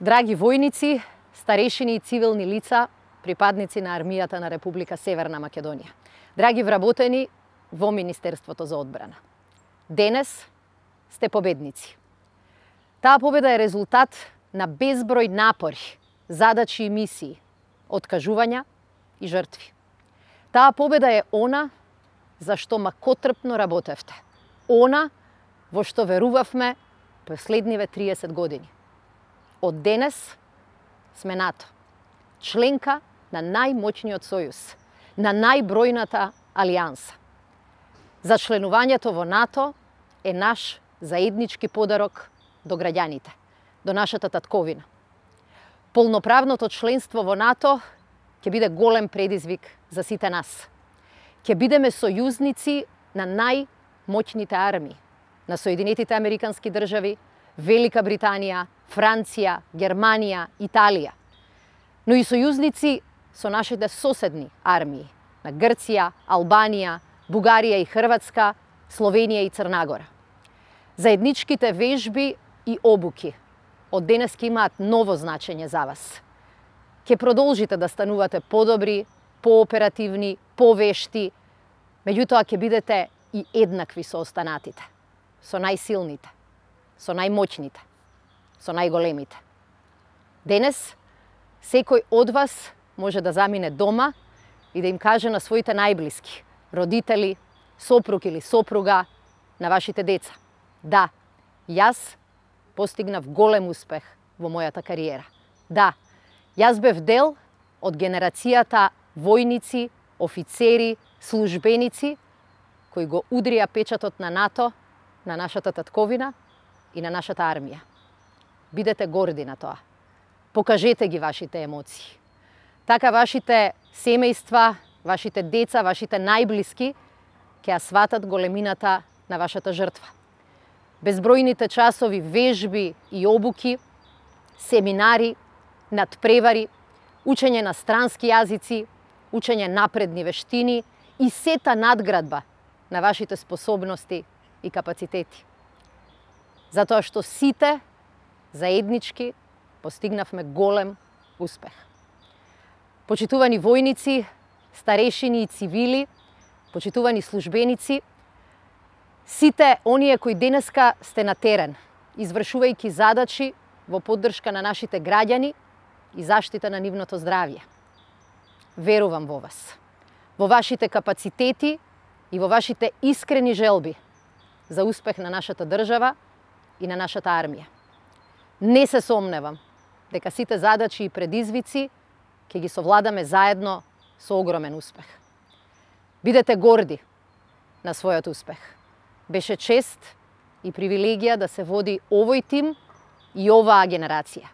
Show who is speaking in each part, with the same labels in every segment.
Speaker 1: Драги војници, старешини и цивилни лица, припадници на армијата на Република Северна Македонија. Драги вработени во Министерството за одбрана. Денес сте победници. Таа победа е резултат на безброј напори, задачи и мисии, откажувања и жртви. Таа победа е она за што макотрпно работевте. Она во што верувавме последниве 30 години. Од денес сме НАТО, членка на најмоćниот сојуз, на најбројната алијанса. За членувањето во НАТО е наш заеднички подарок до граѓаните, до нашата татковина. Полноправното членство во НАТО ќе биде голем предизвик за сите нас. Ќе бидеме сојузници на најмоćните армии, на Соединетите Американски држави, Велика Британија, Франција, Германија, Италија, но и сојузници со нашите соседни армии на Грција, Албанија, Бугарија и Хрватска, Словенија и Црна Гора. Заедничките вежби и обуки од денес ќе имаат ново значење за вас. Ќе продолжите да станувате подобри, пооперативни, повешти, меѓутоа ќе бидете и еднакви со останатите, со најсилните, со најмоćните, со најголемите. Денес, секој од вас може да замине дома и да им каже на своите најблиски, родители, сопруг или сопруга, на вашите деца: да, јас постигнав голем успех во мојата кариера. Да, јас бев дел од генерацијата војници, офицери, службеници кои го удрија печатот на НАТО, на нашата татковина и на нашата армија. Бидете горди на тоа. Покажете ги вашите емоции. Така вашите семејства, вашите деца, вашите најблиски ќе ја сватат големината на вашата жртва. Безбројните часови вежби и обуки, семинари, надпревари, учење на странски јазици, учење напредни вештини и сета надградба на вашите способности и капацитети. Затоа што сите заеднички постигнавме голем успех. Почитувани војници, старешини и цивили, почитувани службеници, сите оние кои денеска сте на терен, извршувајќи задачи во поддршка на нашите граѓани и заштита на нивното здравје. Верувам во вас, во вашите капацитети и во вашите искрени желби за успех на нашата држава и на нашата армија. Не се сомневам дека сите задачи и предизвици ќе ги совладаме заедно со огромен успех. Бидете горди на својот успех. Беше чест и привилегија да се води овој тим и оваа генерација.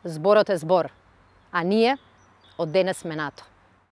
Speaker 1: Зборот е збор, а ние од денес сме НАТО.